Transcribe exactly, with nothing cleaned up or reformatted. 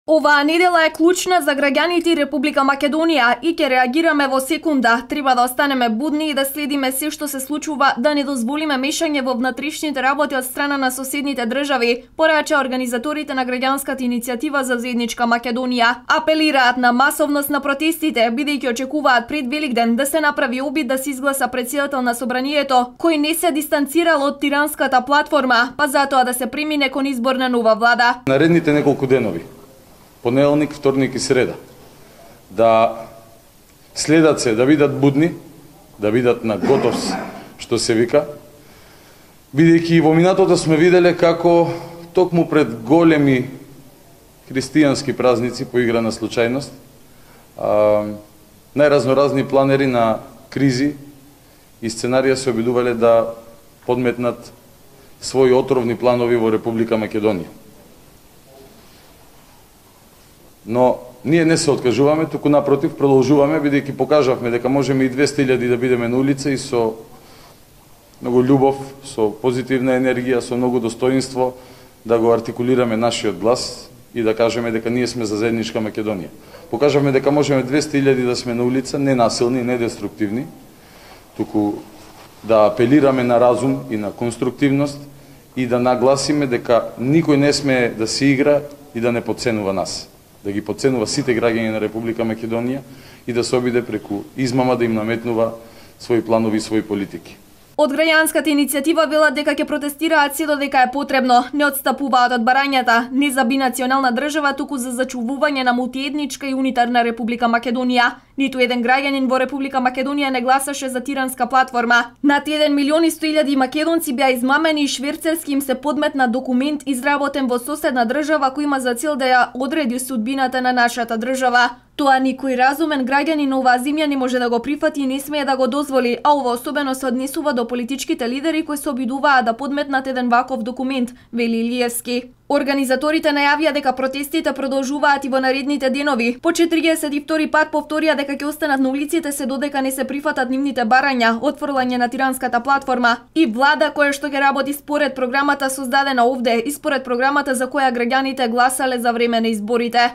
Оваа недела е клучна за граѓаните и Република Македонија и ќе реагираме во секунда. Треба да останеме будни и да следиме се што се случува, да не дозволиме мешање во внатрешните работи од страна на соседните држави, порача организаторите на граѓанската иницијатива за заедничка Македонија. Апелираат на масовност на протестите, бидејќи очекуваат пред Великден да се направи обид да се изгласа претседател на собранието, кој не се дистанцирал од тиранската платформа, па затоа да се премине кон избор на нова влада. Наредните неколку денови, понеделник, вторник и среда, да следат се, да бидат будни, да бидат на готов, што се вика, бидејќи во минатото сме виделе како токму пред големи христијански празници по игра на случајност, најразноразни планери на кризи и сценарија се обидувале да подметнат своји отровни планови во Република Македонија. Но ние не се откажуваме, туку напротив продолжуваме, бидејќи покажавме дека можеме и двесте илјади да бидеме на улица и со многу љубов, со позитивна енергија, со многу достоинство да го артикулираме нашиот глас и да кажеме дека ние сме за заедничка Македонија. Покажавме дека можеме двесте илјади да сме на улица, не насилни, не деструктивни, туку да апелираме на разум и на конструктивност и да нагласиме дека никој не сме да се игра и да не потценува нас, да ги потценува сите граѓани на Република Македонија и да се обиде преку измама да им наметнува своји планови и своји политики. Од граѓанската иницијатива велат дека ќе протестираат се додека е потребно, не отстапуваат од барањата, не за бинационална држава, туку за зачувување на мултиетничка и унитарна Република Македонија. Ниту еден граѓанин во Република Македонија не гласаше за тиранска платформа. Над еден милион и сто илјади македонци беа измамени и шверцерски им се подметна документ изработен во соседна држава кој има за цел да ја одреди судбината на нашата држава. Тоа никој разумен граѓанин на оваа земја не може да го прифати и не смее да го дозволи, а ова особено се однесува до политичките лидери кои се обидуваат да подметнат еден ваков документ, вели Илиевски. Организаторите најавија дека протестите продолжуваат и во наредните денови. По четириесет и втори пат повторија дека ќе останат на улиците се додека не се прифатат нивните барања, отфрлање на тиранската платформа и влада која што ќе работи според програмата создадена овде и според програмата за која граѓаните гласале за време на изборите.